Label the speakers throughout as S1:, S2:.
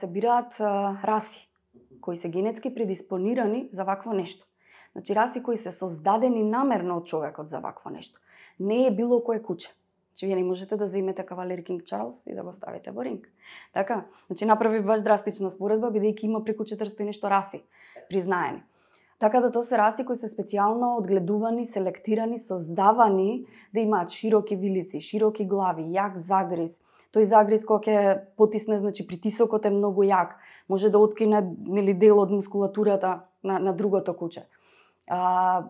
S1: се бираат раси кои се генетски предиспонирани за вакво нешто. Значи раси кои се создадени намерно од човекот за вакво нешто. Не е било кое куче. Значи вие не можете да земете кавалер Кинг Чарлс и да го ставите во ринг. Така, значи направи баш драстична споредба бидејќи има преку 400 и нешто раси признаени. Така да тоа се раси кои се специјално одгледувани, селектирани, создавани да имаат широки вилици, широки глави, јак загриз. Тој загриз кога ќе потисне, значи притисокот е многу јак, може да откине дел од мускулатурата на другото куче.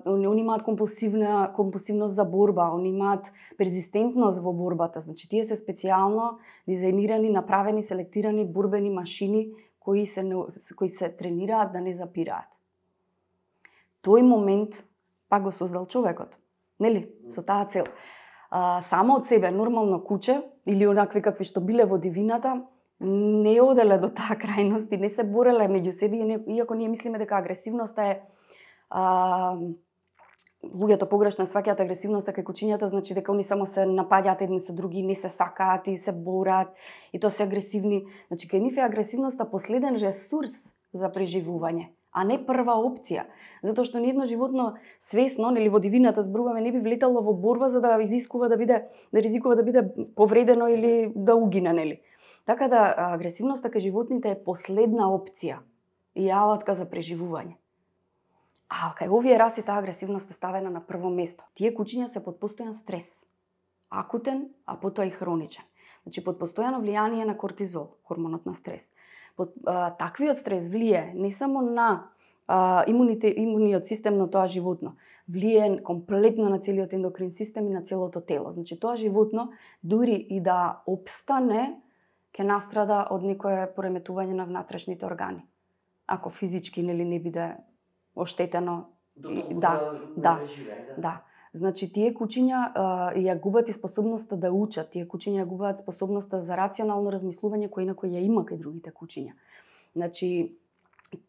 S1: Они имаат компулсивност за борба, они имаат перзистентност во борбата. Значи тие се специјално дизајнирани, направени, селектирани борбени машини кои се тренираат да не запираат. Тој момент пак го создал човекот, нели? Со таа цел. Само од себе нормално куче или онакви какви што биле во дивината не оделе до таа крајност и не се бореле меѓу себе, иако ние мислиме дека агресивноста е луѓето погрешно сваќаат агресивноста кај кучињата, значи дека они само се напаѓаат едни со други, не се сакаат и се борат и тоа се агресивни. Значи кај нив е агресивноста последен ресурс за преживување, а не прва опција, затоа што ни едно животно свесно, нели во дивината зборуваме, не би влетало во борба за да ризикува да биде повредено или да угине, нели? Така да агресивноста кај животните е последна опција и алатка за преживување. А кај овие раси таа агресивност е ставена на прво место. Тие кучиња се под постојан стрес. Акутен, а потоа и хроничен. Значи под постојано влијание на кортизол, хормонот на стрес. Таквиот стрес влие не само на имуниот систем на тоа животно, влие комплетно на целиот ендокрин систем и на целото тело. Значи тоа животно дури и да опстане ќе настрада од некое пореметување на внатрешните органи. Ако физички не биде оштетено. Да. Значи тие кучиња ја губат и способноста да учат, тие кучиња ја губат способноста за рационално размислување кој на кој ја има кај другите кучиња. Значи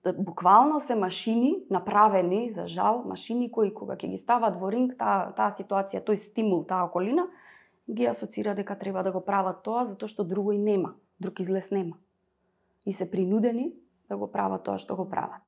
S1: буквално се машини направени, за жал, машини кои кога ќе ги стават во ринг, таа ситуација, тој стимул, таа околина, ги асоцира дека треба да го прават тоа затоа што друго и нема, друг излез нема. И се принудени да го прават тоа што го прават.